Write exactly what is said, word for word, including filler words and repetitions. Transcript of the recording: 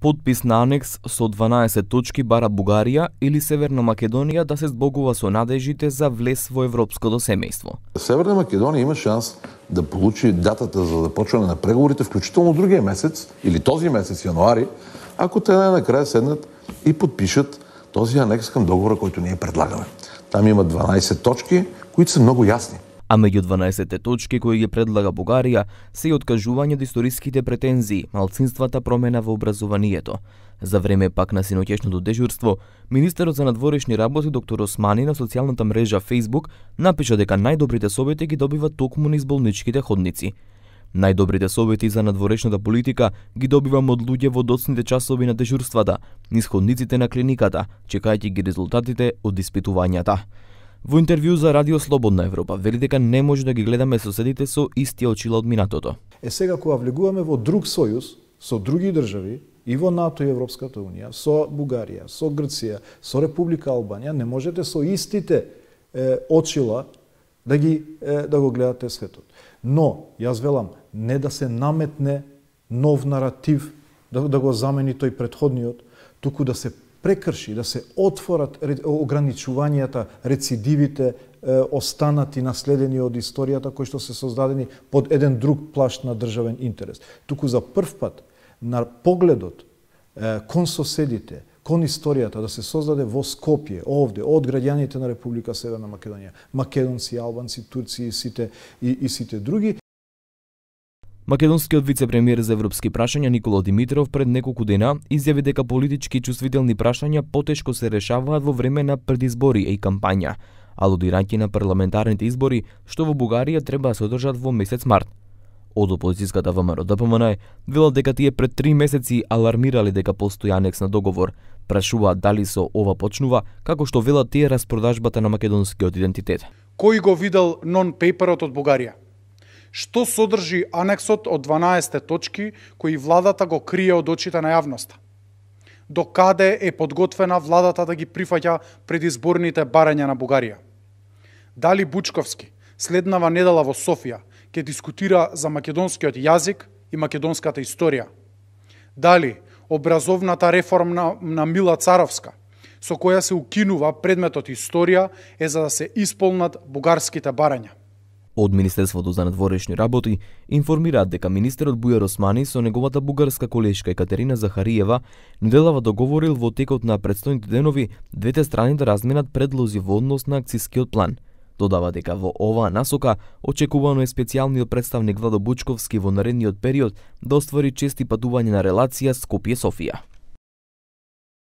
Подпис на анекс со дванаесет точки бара Бугарија или Северна Македонија да се збогува со надежите за влез во европското семејство. Северна Македонија има шанс да получи датата за започване на преговорите, вклучително другия месец или този месец јануари, ако те накрая седнат и подпишат този анекс към договора, който ние предлагаме. Там има дванаесет точки, които са много ясни. А меѓу дванаесетте точки кои ги предлага Бугарија се и откажување од историските претензии, малцинствата, промена во образованието. За време пак на синоќешното дежурство, министерот за надворешни работи доктор Османи на социјалната мрежа Facebook напиша дека најдобрите совети ги добиват токму низ болничките ходници. Најдобрите совети за надворешната политика ги добивам од луѓе во доцните часови на дежурствата, низ ходниците на клиниката, чекајќи ги резултатите од испитувањата. Во интервју за Радио Слободна Европа вели дека не може да ги гледаме соседите со исти очила од минатото. Е сега кога влегуваме во друг сојуз со други држави и во НАТО и Европската унија, со Бугарија, со Грција, со Република Албанија, не можете со истите е, очила да ги е, да го гледате светот. Но јас велам не да се наметне нов наратив да, да го замени тој претходниот, туку да се прекрши, да се отворат ограничувањата, рецидивите, останати наследени од историјата кои што се создадени под еден друг плашт на државен интерес. Туку за прв пат на погледот кон соседите, кон историјата да се создаде во Скопје, овде, од граѓаните на Република Северна Македонија, македонци, албанци, турци и сите, и, и сите други. Македонскиот вице-премиер за европски прашања Никола Димитров пред неколку дена изјави дека политички чувствителни прашања потешко се решаваат во време на предизбори и кампања, алудирајќи на парламентарните избори што во Бугарија треба да се одржат во месец март. Од опозицијската ВМРО Д П М Н велат дека тие пред три месеци алармирале дека постои анекс на договор, прашуваат дали со ова почнува, како што велат тие распродажбата на македонскиот идентитет. Кој го видел нон-пейперот од Бугарија? Што содржи анексот од дванаесет точки кои владата го крие од очите на јавноста? До каде е подготвена владата да ги прифаќа предизборните барања на Бугарија? Дали Бучковски следнава недела во Софија ќе дискутира за македонскиот јазик и македонската историја? Дали образовната реформа на Мила Царовска, со која се укинува предметот историја, е за да се исполнат бугарските барања? Од Министерството за надворешни работи информираат дека министерот Бујар Османи со неговата бугарска колешка Екатерина Захариева неделава договорил во текот на претстојните денови двете страни да разменат предлози во однос на акцискиот план. Додава дека во оваа насока очекувано е специјалниот представник Владо Бучковски во наредниот период да оствари чести патување на релација Скопје-Софија.